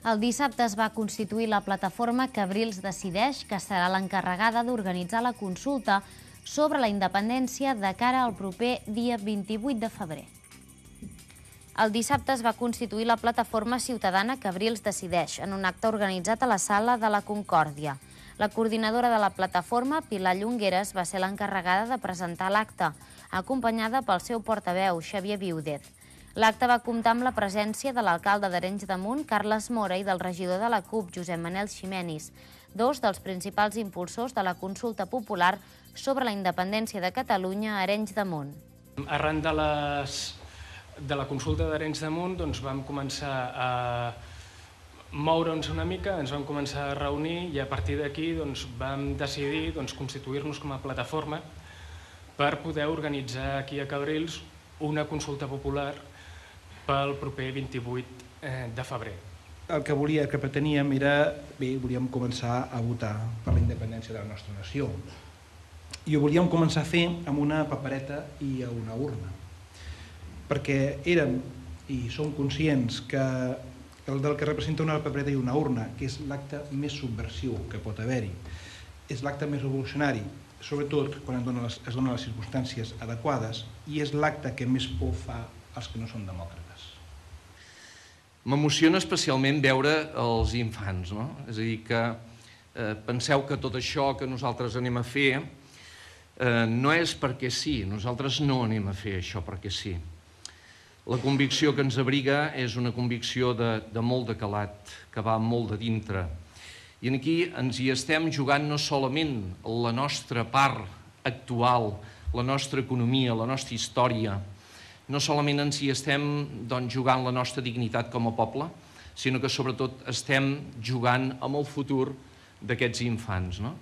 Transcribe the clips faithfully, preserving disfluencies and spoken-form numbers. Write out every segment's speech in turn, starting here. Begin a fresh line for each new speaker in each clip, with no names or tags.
El dissabte es va constituir la plataforma Cabrils Decideix, que serà l'encarregada d'organitzar la consulta sobre la independència de cara al proper dia vint-i-vuit de febrer. El dissabte es va constituir la plataforma ciutadana Cabrils Decideix en un acte organitzat a la Sala de la Concòrdia. La coordinadora de la plataforma, Pilar Llongueras, va ser l'encarregada de presentar l'acte, acompanyada pel seu portaveu, Xavier Viudez. L'acte va comptar amb la presència de l'alcalde d'Arenys de Munt, Carles Mora, i del regidor de la CUP, Josep Manel Ximenis, dos dels principals impulsors de la consulta popular sobre la independència de Catalunya a Arenys de Munt.
Arran de, les, de la consulta d'Arenys de Munt doncs, vam començar a moure'ns una mica, ens vam començar a reunir i a partir d'aquí doncs, vam decidir doncs, constituir-nos com a plataforma per poder organitzar aquí a Cabrils una consulta popular pel proper vint-i-vuit de febrer.
El que volia, que preteníem era, bé, volíem començar a votar per la independència de la nostra nació. I ho volíem començar a fer amb una papereta i a una urna. Perquè érem i som conscients que el del que representa una papereta i una urna, que és l'acte més subversiu que pot haver-hi, és l'acte més revolucionari, sobretot quan es donen les, es donen les circumstàncies adequades, i és l'acte que més por fa als que no són demòcrates.
M'emociona especialment veure els infants, no? És a dir, que eh, penseu que tot això que nosaltres anem a fer eh, no és perquè sí, nosaltres no anem a fer això perquè sí. La convicció que ens abriga és una convicció de, de molt de calat, que va molt de dintre. I aquí ens hi estem jugant no solament la nostra part actual, la nostra economia, la nostra història, no solament ens hi estem doncs, jugant la nostra dignitat com a poble, sinó que sobretot estem jugant amb el futur d'aquests infants, no?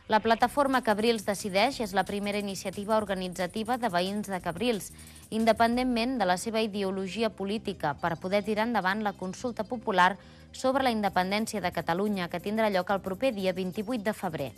La plataforma Cabrils Decideix és la primera iniciativa organitzativa de veïns de Cabrils, independentment de la seva ideologia política, per poder tirar endavant la consulta popular sobre la independència de Catalunya, que tindrà lloc el proper dia vint-i-vuit de febrer.